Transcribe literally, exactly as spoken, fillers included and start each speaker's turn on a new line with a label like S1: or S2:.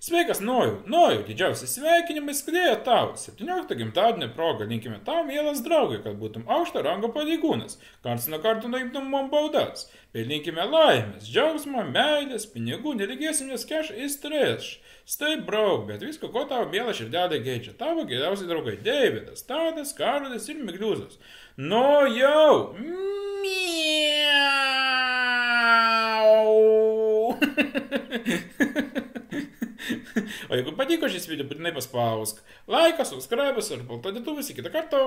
S1: Sveikas, Noju! Noju, didžiausi sveikinimai skrėja tau. septyniolikto gimtadienio proga linkime tau, mielas draugai, kad būtum aukšto rango pareigūnas, karts nuo karto nuimtum mum baudas. Ir linkime laimės, džiaugsmo, meilės, pinigų, neregėsim nes cash is trash. Stay broke, bet visko, ko tavo miela širdelė geidžia. Tavo geriausi draugai Deividas, Tadas, Karolis ir Migliuzas. Nu jau! Miau! O jeigu patiko šis video, būtinai paspausk laiką, subscribe ir paltadėtuvus į kitą kartą.